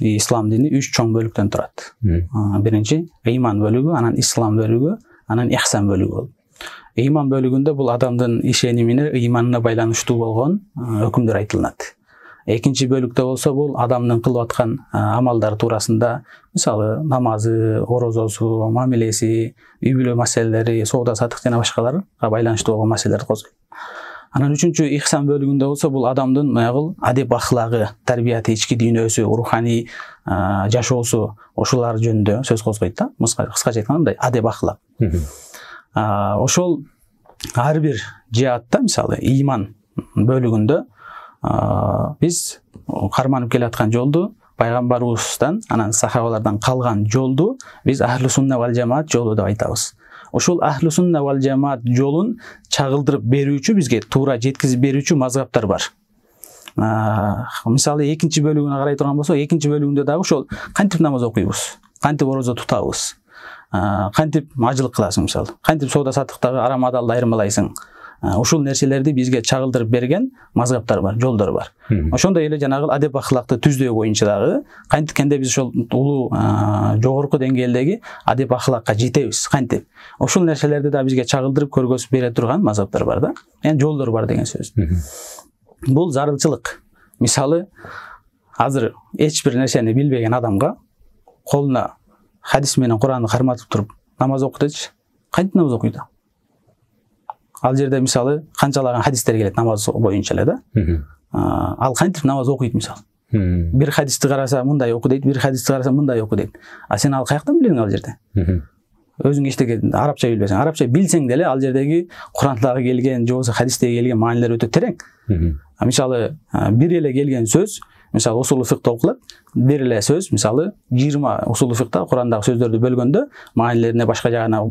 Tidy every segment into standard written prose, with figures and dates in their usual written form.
ислам дини 3 чоң бөлүктөн турат. Биринчи ыйман бөлүгү, анан ислам бөлүгү, анан ихсан бөлүгү. Ыйман бөлүгүндө бул адамдын ишенимине, ыйманына байланыштуу болгон өкүмдөр айтылат. Экинчи бөлүктө болсо бул адамдын кылып аткан амалдары туурасында, мисалы намазы, орозосу, мамилеси, үй бүлө маселелери, соода сатык жана башкаларга байланыштуу болгон маселелерди козгойт. Анан үчүнчү ихсан бөлүгүндө болсо бул адамдын маягыл адеп ахлагы, тарбияты, ички дүйнөсү, руханий жашоосу, ошолар жөнүндө сөз козгойт да. Кыскача айтканда мындай адеп ахлак. Ошол ар бир жаатта, мисалы ыйман бөлүгүндө биз карманып келаткан жолду, пайгамбарыбыздан, анан сахабалардан калган жолду биз ахлу сунна вал жамаат жолу деп айтабыз. Ошол ахлу сунна вал жамаат жолун чагылдырып берүүчү, бизге туура жеткизип берүүчү мазгаптар бар. Мисалы экинчи бөлүгүнө карай турган болсок, экинчи бөлүгүндө дагы ошол кантип намаз окуйбуз, кантип орозо тутабыз, кантип ажылык кыласың, мисалы, кантип соода сатыктагы арам адалды айырмалайсың. Ушул нерселерди бизге чагылдырып берген мазгаптар бар, жолдор бар. Ошондой эле жанагы адеп ахлакты түздөө боюнча дагы кантикенде биз ошол улуу жогорку деңгээлдеги адеп ахлакка жетебиз, кантип. Ошол нерселерди да бизге чагылдырып көргөзүп бере турган мазгаптар бар да. Яны жолдор бар деген сөз. Бул зарылчылык. Мисалы, азыр эч бир нерсени билбеген адамга колуна хадис менен Куранды карматып туруп намаз оку дечи. Кантип намаз окуйт? Ал жерде мисалы канчалаган хадистер келет намаз боюнча эле да. Ал кантип намаз окуйт мисалы? Бир хадисти караса мындай оку дейт, бир хадисти караса мындай оку дейт. А сен ал каяктан билесиң ал жерде? Өзүң эчтеке арабча билбесең, арабча билсең деле ал жердеги Курандагы келген, же болбосо хадистеги келген маанилер өтө терең. Мисалы бир эле келген сөз, мисалы усулу фикта окулат, бир эле сөз, мисалы 20 усулу фикта Курандагы сөздөрдү бөлгөндө, маанилерине башка жагына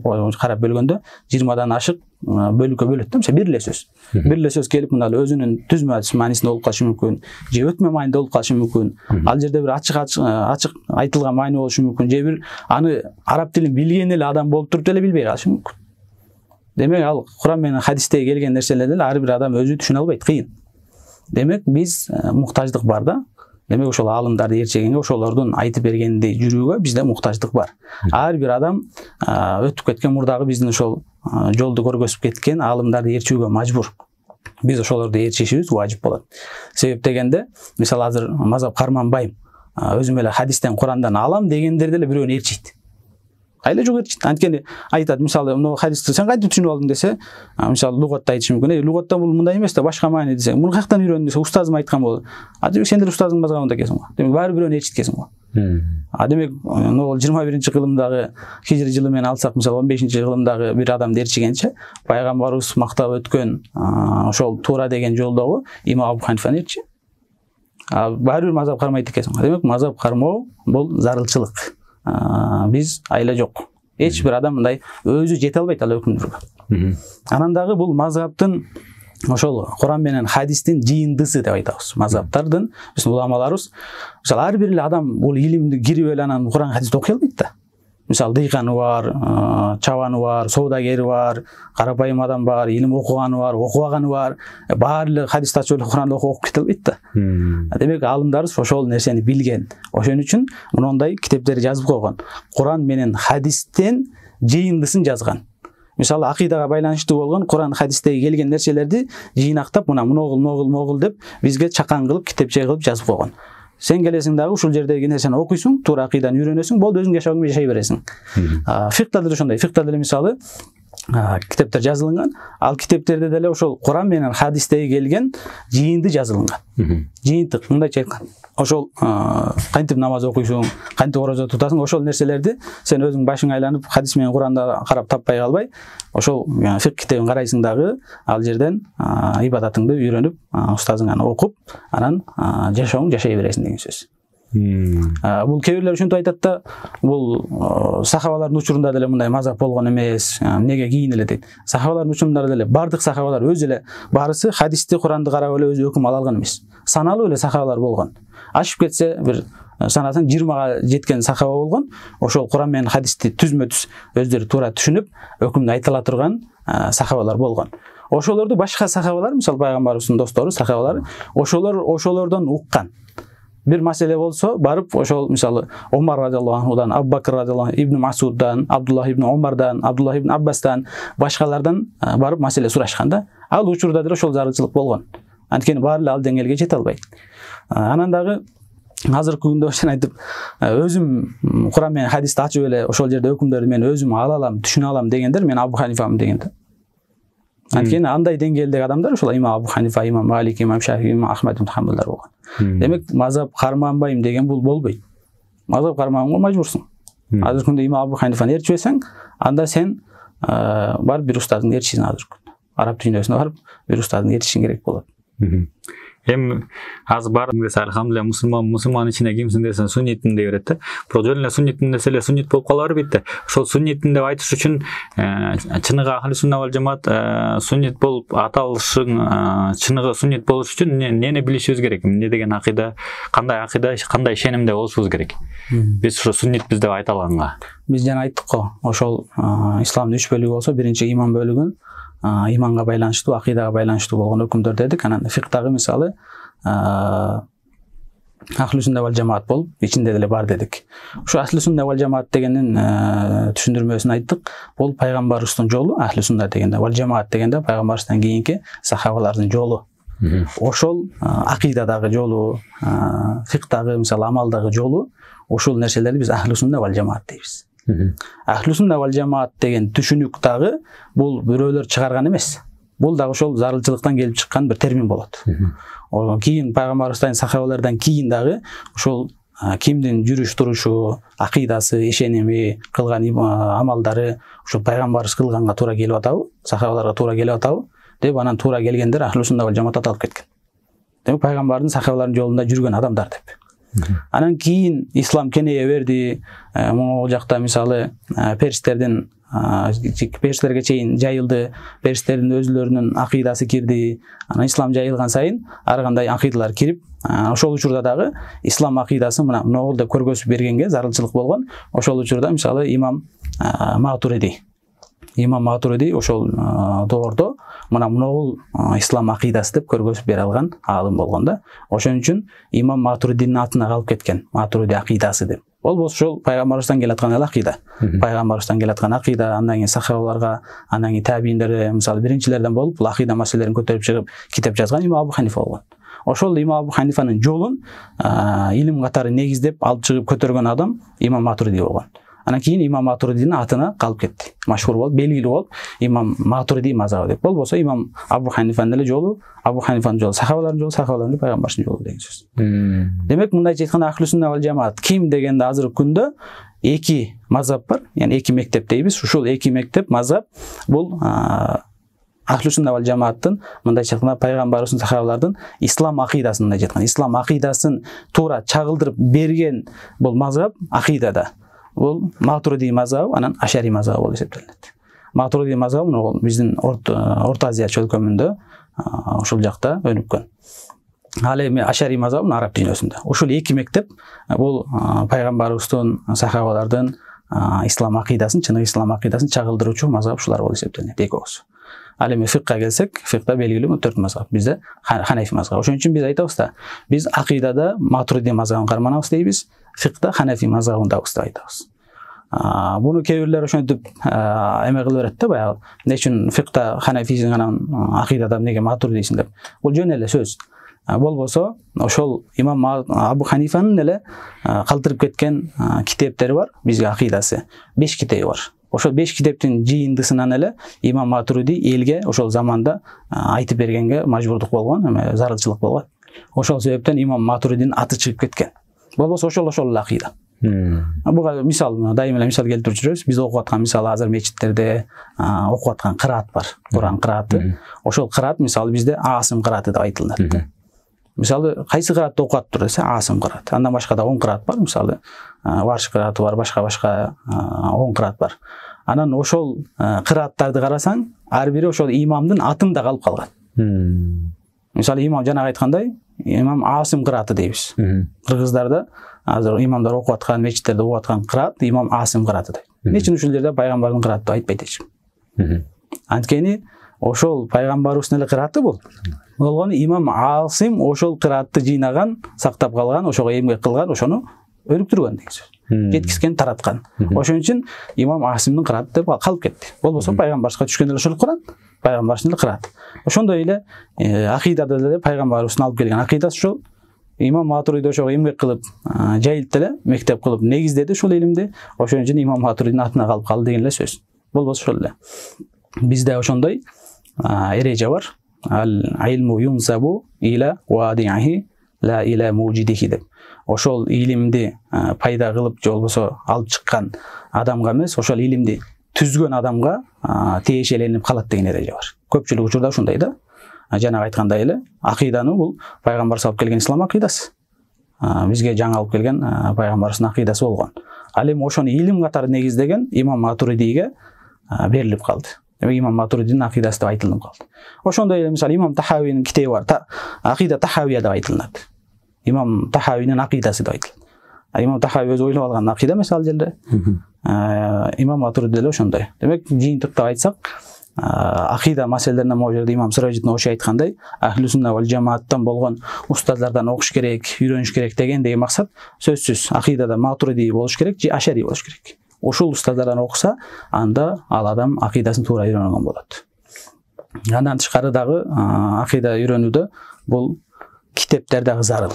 карап бөлгөндө 20дан ашык бөлүккө бөлөт да. Мисалы бир эле сөз. Бир эле сөз келип мына өзүнүн түзмө маанисинде болуп калышы мүмкүн, же өтмө маанинде болуп калышы мүмкүн. Ал жерде бир ачык айтылган маани болушу мүмкүн, же бир аны араб тилин билген эле адам болуп туруп деле билбей калышы мүмкүн. Демек ал Куран менен хадистеги келген нерселерди ар бир адам өзү түшүнө албайт, кыйын. Демек биз муктаждык бар да. Демек ошол аалымдарды ээрчегенге, ошолордун айтып бергениндей жүрүүгө бизде муктаждык бар. Ар бир адам өтүп кеткен мурдагы биздин ошол жолду көргөзүп кеткен аалымдарды ээрчүүгө мажбур. Биз ошолорду ээрчишибиз важип болот. Себеп дегенде, мисалы азыр мазап карманбайм, өзүм эле хадистен, Курандан алам дегендер деле бирөөнү ээрчийт. Айла жок ээрчийт. Анткени айтат, мисалы, мына хадисти сен кантип түшүнүп алдың десе, мисалы лугатта айтышы мүмкүн. Лугатта бул мындай эмес да, башка маани десе, муну каяктан үйрөндүң десе, устазым айткан болот. Демек сендер устазың мазгабында экенсиң го. Демек баары бирөөнү ээрчиткенсиң го. Демек могул 21-кылымдагы хижри жылы менен алсак, мисалы 15-кылымдагы бир адамды ээрчигенче, пайгамбарыбыз мактап өткөн ошол туура деген жолдогу имам Абу Ханифаны ээрчи. Баары бир мазап кармайт экенсиң го. Демек мазап кармоо бул зарылчылык. Биз айла жок. Эч бир адам мындай өзү жете албайт ал өкүмдөргө. Анан дагы бул мазгаптын ошол Куран менен хадистин жыйындысы деп айтабыз. Мазгаптардын биздин уламаларыбыз, мисалы ар бир эле адам бул илимди кирип эле анан Куран хадисти окуй албайт да. Мисалы дыйканы бар, чабаны бар, соодагери бар, карапайым адам бар, илим окуганы бар, окубаганы бар. Баары эле хадисти ачып эле Куранды окуп кете албайт да. Демек аалымдарыбыз ошол нерсени билген. Ошон үчүн мындай китептерди жазып койгон. Куран менен хадистен жыйындысын жазган. Мисалы акыйдага байланыштуу болгон Куран хадистеги келген нерселерди жыйнактап, могул деп бизге чакан кылып, китепче кылып жазып койгон. Сен келесиң дагы ушул жердеги нерсени окуйсуң, туура акыйданы үйрөнөсүң, болду, өзүң жашооңду жашай бересиң. Фикта деле ошондой. Фикта деле мисалы китептер жазылган. Ал китептерде деле ошол Куран менен хадистеги келген жыйынды жазылган. Жыйынтык, мындайча айтканда. Ошол кантип намаз окуйсуң, кантип орозо тутасың, ошол нерселерди сен өзүң башың айланып хадис менен Куранда карап таппай калбай, ошол фик китебин карайсың дагы, ал жерден ибадатыңды үйрөнүп, устазыңаны окуп, анан жашооңду жашай бересиң деген сөз. Бул кээ бирлер ушинтип айтат да, бул сахабалардын учурунда деле мындай мазап болгон эмес, эмнеге кийин эле дейт. Сахабалардын учурунда деле бардык сахабалар өзү эле баарысы хадисти, Куранды карап эле өзү өкүм ала алган эмес. Саналуу эле сахабалар болгон. Ашып кетсе бир санасаң 20га жеткен сахаба болгон. Ошол Куран менен хадисти түзмө-түз өздөрү туура түшүнүп, өкүмдү айтыла турган сахабалар болгон. Ошолорду башка сахабалар, мисалы пайгамбарыбыздын достору, сахабалары, ошолордон уккан. бир маселе болсо барып ошол мисалы Омар радиаллаху анхудан, Абу Бакр радиаллаху анху, Ибн Масуддан, Абдуллах ибн Омардан, Абдуллах ибн Аббастан, башкалардан барып маселе сурашкан да. Ал учурда деле ошол зарылчылык болгон. Анткени баары эле ал деңгээлге жете албайт. Анан дагы азыркы күндө ошон айтып, өзүм Куран менен хадисти ачып эле ошол жерде өкүмдөрдү мен өзүм ала алам, түшүнө алам дегендер мен Абу Ханифамын деген да. Анткени андай деңгээлдеги адамдар ошол имам Абу Ханифа, имам Малик, имам Шафи, имам Ахмад ибн Хамбалдар болгон. Демек, мазхаб карманбайм деген бул болбойт. Мазхаб карманганга мажбурсуң. Азыркы күндө имам Абу Ханифаны ээрчибесең, анда сен барып бир устаздын ээрчисиң азыркы күндө. Араб дүйнөсүнө барып бир устаздын ээрчишиң керек болот. Эми азыр баардык десе алхамдулилlah мусулман ичине кимсиң десе суннитмин дей берет да. Бирок жөн эле суннитмин десе эле суннит болуп кала бербейт да. Ошол суннитмин деп айтыш үчүн чыныгы ахли сунна вал жамаат суннит болуп аталышың чыныгы суннит болуш үчүн эмнени билишибиз керек? Эмне деген акыйда, кандай ишенимде болушубуз керек? Биз ушу суннитбиз деп айта алганга. Биз жана айттык го, ошол исламдын 3 бөлүгү болсо, биринчи иман бөлүгүн иманга байланыштуу, акыйдага байланыштуу болгон өкүмдөр дедик. Анан фикдагы мисалы ахли сунна вал жамаат болуп, ичинде деле бар дедик. Ушу ахли сунна вал жамаат дегендин түшүндүрмөсүн айттык. Бул пайгамбарыбыздын жолу, ахли сунна дегенде, вал жамаат дегенде пайгамбарыбыздан кийинки сахабалардын жолу. Ошол акыйдадагы жолу, фикдагы мисалы амалдагы жолу, ошол нерселерди биз ахли сунна вал жамаат дейбиз. Ахли сунна вал жамаат деген түшүнүк дагы бул бирөөлөр чыгарган эмес. Бул дагы ошол зарылчылыктан келип чыккан бир термин болот. Кийин пайгамбарыбыздан, сахабалардан кийин дагы ошол кимдин жүрүш турушу, акыйдасы, ишеними, кылган амалдары ошол пайгамбарыбыз кылганга туура келип атабы, сахабаларга туура келип атабы деп анан туура келгендер ахли сунна вал жамаат аталып кеткен. Демек пайгамбардын, сахабалардын жолунда жүргөн адамдар деп. Анан кийин ислам кенейе берди. Могул жакта мисалы перстердин перстерге чейин жайылды. Перстердин өзүлөрүнүн акыйдасы кирди. Анан ислам жайылган сайын ар кандай акыйдалар кирип, ошол учурда дагы ислам акыйдасы мына могул деп көргөзүп бергенге зарылчылык болгон. Ошол учурда мисалы имам Матуриди ошол доордо мына могул ислам акыйдасы деп көргөзүп бере алган аалым болгон да. Ошон үчүн имам Матуридинин атына калып кеткен, Матуриди акыйдасы деп. Болбосо ошол пайгамбарыбыздан келаткан эле акыйда. Пайгамбарыбыздан келаткан акыйда, андан кийин сахабаларга, андан кийин табийиндерге мисалы биринчилерден болуп, бул акыйда маселелерин көтөрүп чыгып китеп жазган имам Абу Ханифа болгон. Ошол имам Абу Ханифанын жолун илим катары негиздеп алып чыгып көтөргөн адам имам Матуриди болгон. Анан кийин имам Матуридинин атына калып кетти. Машхур болуп, белгилүү болуп, имам Матуриди мазабы деп. Болбосо имам Абу Ханифанын эле жолу, Абу Ханифанын жолу, сахабалардын жолу, сахабалардын пайгамбардын жолу деген сөз. Демек, мындайча айтканда ахли сунна вал жамаат ким дегенде азыркы күндө эки мазхаб бар, яғни эки мектеп дейбиз. Ушул эки мектеп мазхаб бул ахли сунна вал жамааттын мындайча айтканда пайгамбарыбыздын, сахабалардын ислам акыйдасын мындайча айтканда ислам акыйдасын туура чагылдырып берген бул мазхаб акыйдада. Бул Матуриди мазхабы, анан Ашари мазхабы болуп эсептелет. Матуриди мазхабы бул биздин Орто Азия чөлкөмүндө ошол жакта өнүккөн. Ал эми Ашари мазхабы араб дүйнөсүндө. Ушул эки мектеп бул пайгамбарыбыздын, сахабалардын ислам акыйдасын, чыныгы ислам акыйдасын чагылдыруучу мазхаб ушулар болуп эсептелет, экөөсү. Ал эми фикка келсек, фикта белгилүү 4 мазхаб. Бизде Ханафи мазхабы. Ошон үчүн биз айтабыз да, биз акыйдада Матуриди мазхабын карманабыз дейбиз, фикта Ханафи мазхабындабыз деп айтабыз. Буну кээ бирлер ошентип эме кылып берет да, баягы эмне үчүн фикта Ханафисиң анан акыйдада эмнеге Матуридисиң деп. Бул жөн эле сөз. Болбосо ошол имам Абу Ханифанын эле калтырып кеткен китептери бар, бизге акыйдасы. 5 китеби бар. Ошол 5 китептин жыйындысынан эле имам Матуриди элге ошол заманда айтып бергенге мажбурдук болгон, эме зарылчылык болгон. Ошол себептен имам Матуридинин аты чыгып кеткен. Болбосо ошол эле акыйда. Буга мисал, дайыма эле мисал келтирип жүрөбүз. Биз окуп аткан мисалы азыр мечиттерде окуп аткан кыраат бар. Куран кырааты. Ошол кыраат мисалы бизде Асым кырааты деп айтылат. Мисалы кайсы кыраатты окуп атыптыр десе Асым кырааты. Андан башка да 10 кыраат бар, мисалы Варш кырааты бар, башка 10 кыраат бар. Анан ошол кырааттарды карасаң, ар бири ошол имамдын атында калып калган. Мисалы имам жанагы айткандай, имам Асым кырааты дейбиз. Кыргыздарда азыр имамдар окуп аткан, мечиттерде окуп аткан кыраат имам Асым кырааты дейт. Эмне үчүн ушул жерде пайгамбардын кырааты айтпайт эч ким? Анткени ошол пайгамбарыбыздын эле кырааты бул. болгону имам Асим ошол кыраатты жыйнаган, сактап калган, ошого эмгек кылган, ошону өнүктүргөн деген сөз. Жеткизген, тараткан. Ошон үчүн имам Асимдин кырааты деп калып кетти. Болбосо пайгамбарыбызга түшкөн эле ошол Куран, пайгамбарыбыздын кырааты. Ошондой эле акыйдада деле пайгамбарыбыздын алып келген акыйдасы ошол. Имам Матуриди ошого эмгек кылып, жайылтты эле, мектеп кылып негиздеди ушул илимди. Ошон үчүн имам Матуридин атына калып калды деген эле сөз. Болбосо ошол эле. Бизде ошондой эреже бар. Ал-илму юнсабу иля вадиhi ла иля мужидихи деп. Ошол илимди пайда кылып же болбосо алып чыккан адамга эмес, ошол илимди түзгөн адамга тиешеленип калат деген эреже бар. Көпчүлүк учурда ушундай да. Жанагы айткандай эле, акыйданы бул пайгамбарыбыз алып келген ислам акыйдасы. Бизге жаңы алып келген пайгамбарыбыздын акыйдасы болгон. Ал эми ошону илим катары негиздеген имам Матуридиге берилип калды. Демек имам Матуридинин акыйдасы деп айтылып калды. Ошондой эле мисалы имам Тахавинин китеби бар. Акыйда Тахавия деп айтылат. Имам Тахавинин акыйдасы деп айтылат. Имам Тахави өзү ойлоп алган акыйда эмес ал жерде. Имам Матуриди деле ошондой. Демек жыйынтыктап айтсак, акыйда маселелерине могу жерде имам Сиражиддин Оши айткандай, ахли сунна вал жамааттан болгон устаздардан окуш керек, үйрөнүш керек дегендеги максат сөзсүз акыйдада Матуриди болуш керек же Ашари болуш керек. Ушул устаздардан окуса, анда ал адам акыйдасын туура үйрөнгөн болот. Андан тышкары дагы акыйда үйрөнүүдө бул китептер дагы зарыл.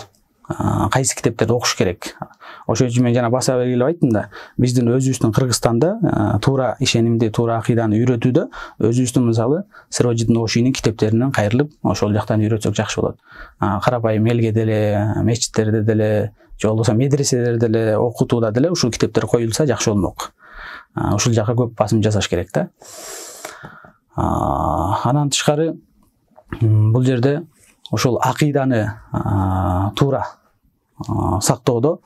Кайсы китептерди окуш керек. Ошон үчүн мен жана баса белгилеп айттым да, биздин өзүбүздүн Кыргызстанда туура ишенимди, туура акыйданы үйрөтүүдө өзүбүздүн мисалы Сиражиддин Ошинин китептеринен кайрылып, ошол жактан үйрөтсөк жакшы болот. Карапайым элге деле, мечиттерде деле, же болбосо медреселерде деле, окутууда деле ушул китептер коюлса жакшы болмок. Ушул жака көп басым жасаш керек да. Анан тышкары бул жерде ошол акыйданы туура сактоодо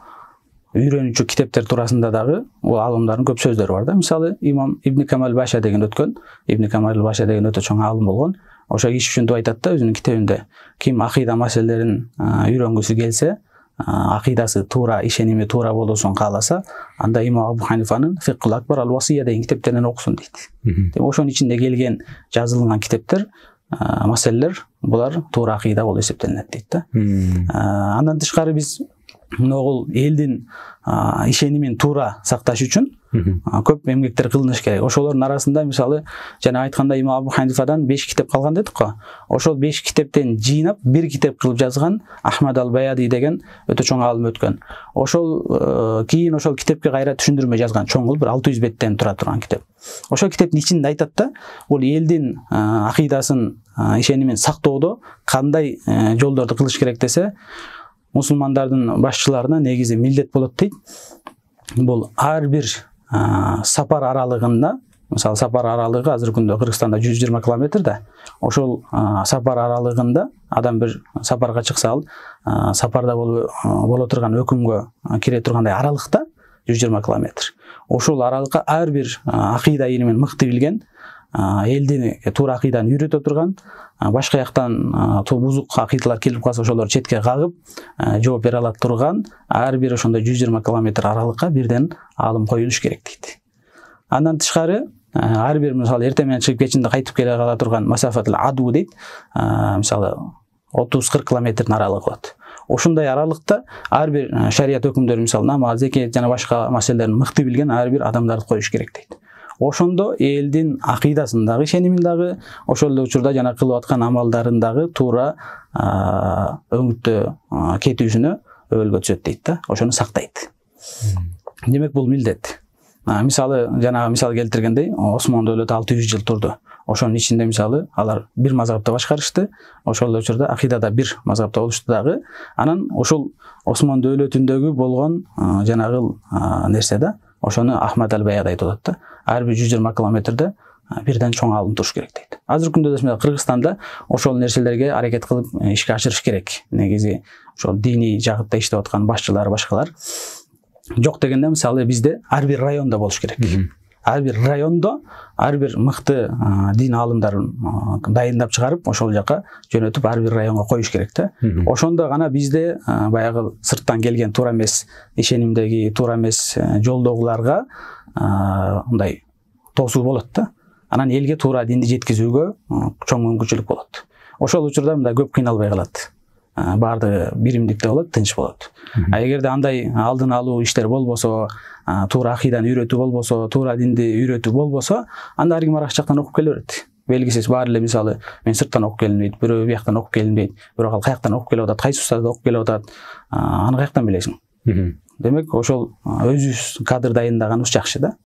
үйрөнүүчү китептер туурасында дагы алымдардын көп сөздөрү бар да. Мисалы имам Ибн Камал Баша деген өткөн, Ибн Камал Баша деген өтө чоң алым болгон. Ошо киши ушинтип айтат да өзүнүн китебинде, ким акыйда маселелерин үйрөнгүсү келсе, акыйдасы туура, ишеними туура болуусун кааласа, анда имам Абу Ханифанын Фикхул Акбар ал-Васия деген китептеринен окусун дейт. Ошонун ичинде келген жазылган китептер, маселелер булар туура акыйда болуп эсептелинет дейт да. Андан тышкары биз могул элдин ишенимин туура сакташ үчүн көп эмгектер кылыныш керек. Ошолордун арасында мисалы жана айтканда имам Абу Ханифадан 5 китеп калган дедик го. Ошол 5 китептен жыйнап бир китеп кылып жазган Ахмад ал-Баяди деген өтө чоң алым өткөн. Ошол кийин ошол китепке кайра түшүндүрмө жазган, чоң бир 600 беттен тура турган китеп. Ошол китептин ичинде айтат да, бул элдин акыйдасын, ишенимин сактоодо кандай жолдорду кылыш керек десе, мусулмандардын башчыларына негизи милдет болот дейт. Бул ар бир сапар аралыгында, мисалы сапар аралыгы азыркы күндө Кыргызстанда 120 километр да. Ошол сапар аралыгында адам бир сапарга чыкса, ал сапарда боло турган өкүмгө кире тургандай аралыкта 120 километр. Ошол аралыкка ар бир акыйда илимин мыкты билген, элдин туура акыйданы үйрөтө турган, башка жактан бузук акыйдалар келип калса ошолор четке кагып жооп бере алат турган ар бир ошондой 120 километр аралыкка бирден алым коюлуш керек дейт. Андан тышкары ар бир мисалы эртең менен чыгып кечинде кайтып келе кала турган масафатыл аду дейт. Мисалы 30-40 километрдин аралыгы болот. Ошондой аралыкта ар бир шарият өкүмдөрү, мисалы намаз, зекет жана башка маселелерди мыкты билген ар бир адамдарды коюш керек дейт. Ошондо элдин акыйдасын дагы, ишенимин дагы, ошол эле учурда жана кылып аткан амалдарын дагы туура өңүттө кетүүсүнө өбөлгө түшөт дейт да. Ошону сактайт. Демек бул милдет. Мисалы жана мисал келтиргендей, Осмон дөөлөтү 600 жыл турду. Ошонун ичинде мисалы алар бир мазхабты башкарышты. Ошол эле учурда акыйдада бир мазхабта болушту дагы. Анан ошол Осмон дөөлөтүндөгү болгон жанагы нерсе да, ошону Ахмад ал-Баяди айтып атат да. Ар бир 120 километрде бирден чоң алым туруш керек дейт. Азыркы күндө да Кыргызстанда ошол нерселерге аракет кылып ишке ашырыш керек. Негизи ошол диний жагытта иштеп аткан башчылар, башкалар. Жок дегенде мисалы бизде ар бир райондо болуш керек. Ар бир райондо ар бир мыкты дин алымдарын дайындап чыгарып, ошол жака жөнөтүп ар бир районго коюш керек да. Ошондо гана бизде баягы сырттан келген туура эмес ишенимдеги, туура эмес жолдогуларга мындай тосуу болот да. Анан элге туура динди жеткизүүгө чоң мүмкүнчүлүк болот. ошол учурда мындай көп кыйналбай калат. Баардыгы биримдикте болот, тынч болот. Эгерде андай алдын алуу иштер болбосо, туура акыйданы үйрөтүү болбосо, туура динди үйрөтүү болбосо, анда ар ким ар жактан окуп келе берет. Белгисиз баары эле мисалы мен сырттан окуп келдим дейт, бирөө бияктан окуп келдим дейт, бирок ал каяктан окуп келип атат, кайсы устазды окуп келип атат, аны каяктан билесиң? Демек ошол өзүбүз кадр дайындаганыбыз жакшы да.